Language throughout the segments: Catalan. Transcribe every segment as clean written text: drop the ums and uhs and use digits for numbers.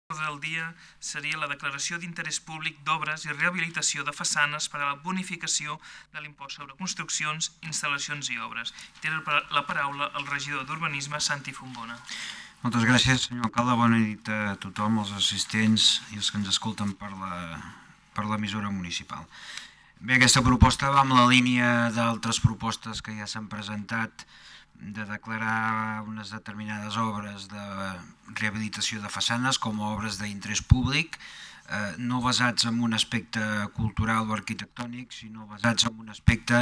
del dia seria la declaració d'interès públic d'obres i rehabilitació de façanes per a la bonificació de l'impost sobre construccions, instal·lacions i obres. Té la paraula el regidor d'Urbanisme, Santi Fontbona. Moltes gràcies, senyor alcalde. Bona nit a tothom, els assistents i els que ens escolten per l'emissora municipal. Bé, aquesta proposta va en la línia d'altres propostes que ja s'han presentat de declarar unes determinades obres de rehabilitació de façanes com a obres d'interès públic, no basats en un aspecte cultural o arquitectònic, sinó basats en un aspecte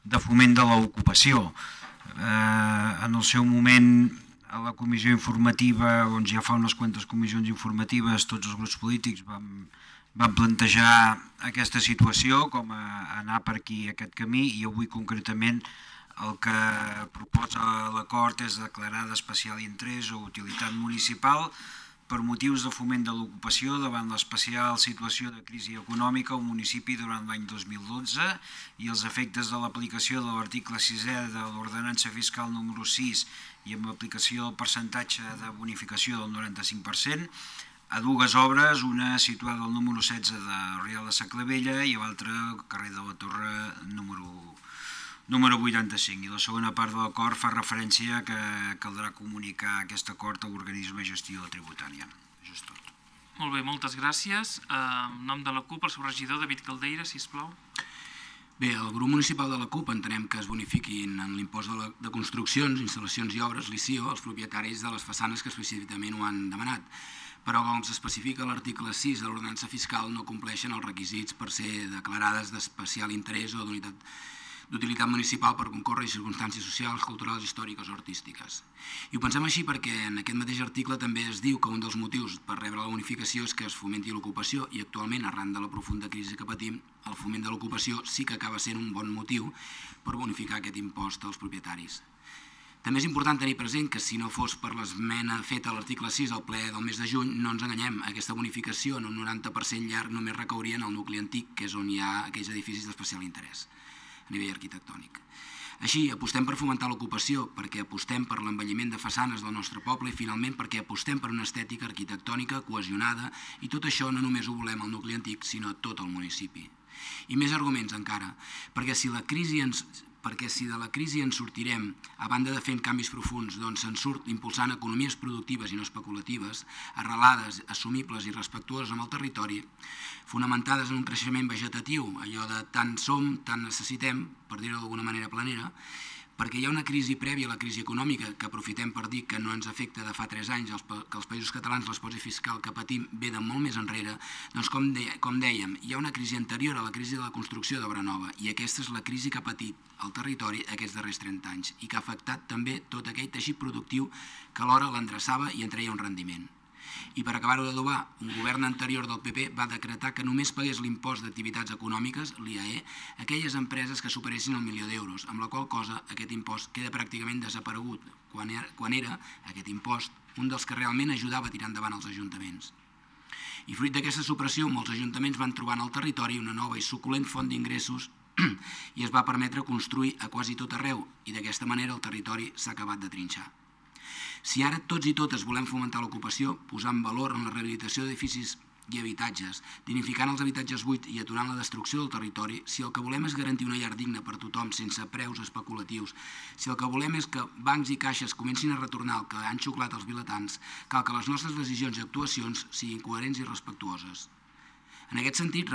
de foment de l'ocupació. En el seu moment, a la comissió informativa, on ja fa unes quantes comissions informatives, tots els grups polítics van plantejar aquesta situació com a anar per aquí aquest camí, i avui concretament el que proposa l'acord és declarar d'especial interès o utilitat municipal per motius de foment de l'ocupació davant l'especial situació de crisi econòmica al municipi durant l'any 2012 i els efectes de l'aplicació de l'article 6è de l'ordenança fiscal número 6 i amb l'aplicació del percentatge de bonificació del 95%, a dues obres, una situada al número 16 de Rial de Saclavella i l'altra al carrer de la Torre número 85. I la segona part de l'acord fa referència que caldrà comunicar aquest acord a l'organisme de gestió tributària. Això és tot. Molt bé, moltes gràcies. En nom de la CUP, el seu regidor, David Caldeira, sisplau. Bé, el grup municipal de la CUP entenem que es bonifiquin en l'impost de construccions, instal·lacions i obres, l'ICIO, els propietaris de les façanes que específicament ho han demanat. Però, com s'especifica a l'article 6 de l'ordenança fiscal, no compleixen els requisits per ser declarades d'especial interès o d'utilitat municipal per concórrer circumstàncies socials, culturals, històriques o artístiques. I ho pensem així perquè en aquest mateix article també es diu que un dels motius per rebre la bonificació és que es fomenti l'ocupació, i actualment, arran de la profunda crisi que patim, el foment de l'ocupació sí que acaba sent un bon motiu per bonificar aquest impost als propietaris. També és important tenir present que si no fos per l'esmena feta a l'article 6 al ple del mes de juny, no ens enganyem, aquesta bonificació en un 90% llarg només recauria en el nucli antic, que és on hi ha aquells edificis d'especial interès a nivell arquitectònic. Així, apostem per fomentar l'ocupació, perquè apostem per l'envelliment de façanes del nostre poble i, finalment, perquè apostem per una estètica arquitectònica cohesionada, i tot això no només ho volem al nucli antic, sinó a tot el municipi. I més arguments encara, perquè si de la crisi ens sortirem, a banda de fent canvis profunds, doncs se'n surt impulsant economies productives i no especulatives, arrelades, assumibles i respectuoses amb el territori, fonamentades en un creixement vegetatiu, allò de tant som, tant necessitem, per dir-ho d'alguna manera planera, perquè hi ha una crisi prèvia a la crisi econòmica, que aprofitem per dir que no ens afecta de fa 3 anys, que els països catalans l'esposi fiscal que patim ve de molt més enrere, doncs com dèiem, hi ha una crisi anterior a la crisi de la construcció d'obra nova, i aquesta és la crisi que ha patit el territori aquests darrers 30 anys i que ha afectat també tot aquell teixit productiu que alhora l'endreçava i en treia un rendiment. I per acabar-ho d'adobar, un govern anterior del PP va decretar que només pagués l'impost d'activitats econòmiques, l'IAE, a aquelles empreses que superessin el 1.000.000 d'euros, amb la qual cosa aquest impost queda pràcticament desaparegut, quan era aquest impost un dels que realment ajudava a tirar endavant els ajuntaments. I fruit d'aquesta supressió, molts ajuntaments van trobar en el territori una nova i suculent font d'ingressos i es va permetre construir a quasi tot arreu, i d'aquesta manera el territori s'ha acabat de trinxar. Si ara tots i totes volem fomentar l'ocupació, posant valor en la rehabilitació d'edificis i habitatges, dignificant els habitatges buits i aturant la destrucció del territori, si el que volem és garantir una llar digna per tothom sense preus especulatius, si el que volem és que bancs i caixes comencin a retornar el que han xuclat els vilatans, cal que les nostres decisions i actuacions siguin coherents i respectuoses. En aquest sentit,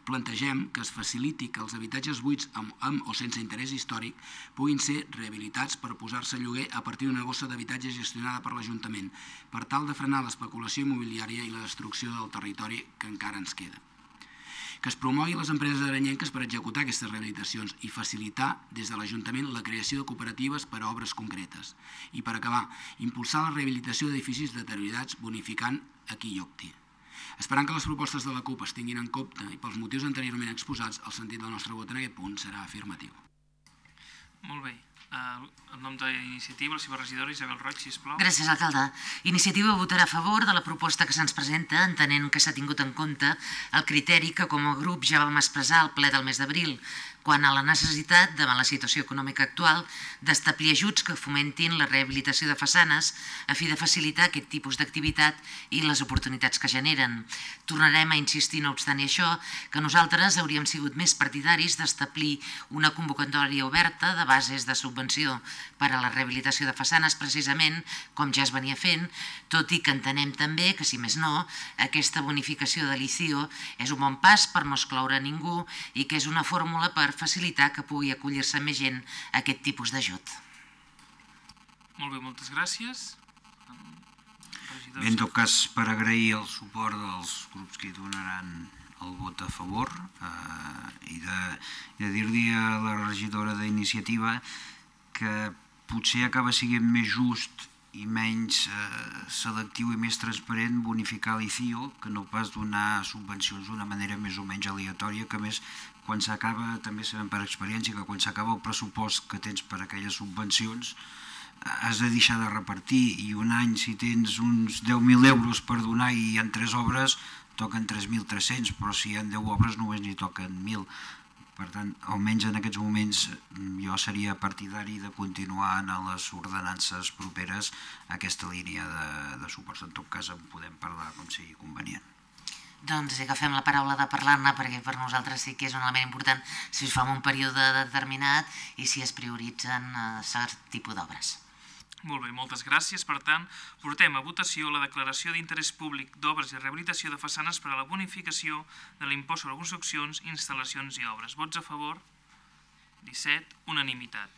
plantegem que es faciliti que els habitatges buits amb o sense interès històric puguin ser rehabilitats per posar-se a lloguer a partir d'una bossa d'habitatge gestionada per l'Ajuntament, per tal de frenar l'especulació immobiliària i la destrucció del territori que encara ens queda. Que es promogui les empreses aranyenques per executar aquestes rehabilitacions i facilitar des de l'Ajuntament la creació de cooperatives per a obres concretes. I per acabar, impulsar la rehabilitació d'edificis deteriorats bonificant a qui hi opti. Esperant que les propostes de la CUP es tinguin en compte i pels motius anteriorment exposats, el sentit del nostre vot en aquest punt serà afirmatiu. Molt bé. En nom d'Iniciativa, la seva regidora Isabel Roig, sisplau. Gràcies, alcalde. Iniciativa votarà a favor de la proposta que se'ns presenta, entenent que s'ha tingut en compte el criteri que com a grup ja vam expressar al ple del mes d'abril, quant a la necessitat, davant la situació econòmica actual, d'establir ajuts que fomentin la rehabilitació de façanes a fi de facilitar aquest tipus d'activitat i les oportunitats que generen. Tornarem a insistir, no obstant això, que nosaltres hauríem sigut més partidaris d'establir una convocatòria oberta de bases de subvenció per a la rehabilitació de façanes, precisament com ja es venia fent, tot i que entenem també que, si més no, aquesta bonificació de l'ICIO és un bon pas per no excloure ningú i que és una fórmula per facilitar que pugui acollir-se més gent a aquest tipus d'ajut. Molt bé, moltes gràcies. Bé, en tot cas, per agrair el suport dels grups que hi donaran el vot a favor i de dir-li a la regidora d'Iniciativa que potser acaba sent més just i menys selectiu i més transparent bonificar l'ICIO que no pas donar subvencions d'una manera més o menys aleatòria, que més quan s'acaba, també sabem per experiència que quan s'acaba el pressupost que tens per aquelles subvencions has de deixar de repartir i un any si tens uns 10.000 euros per donar i hi ha 3 obres toquen 3.300, però si hi ha 10 obres només n'hi toquen 1.000. Per tant, almenys en aquests moments jo seria partidari de continuar en les ordenances properes a aquesta línia de suports. En tot cas en podem parlar com sigui convenient. Doncs agafem la paraula de parlar-ne perquè per nosaltres sí que és un element important si es fa en un període determinat i si es prioritzen cert tipus d'obres. Molt bé, moltes gràcies. Per tant, portem a votació la declaració d'interès públic d'obres i rehabilitació de façanes per a la bonificació de l'impost sobre construccions, instal·lacions i obres. Vots a favor? 17. Unanimitat.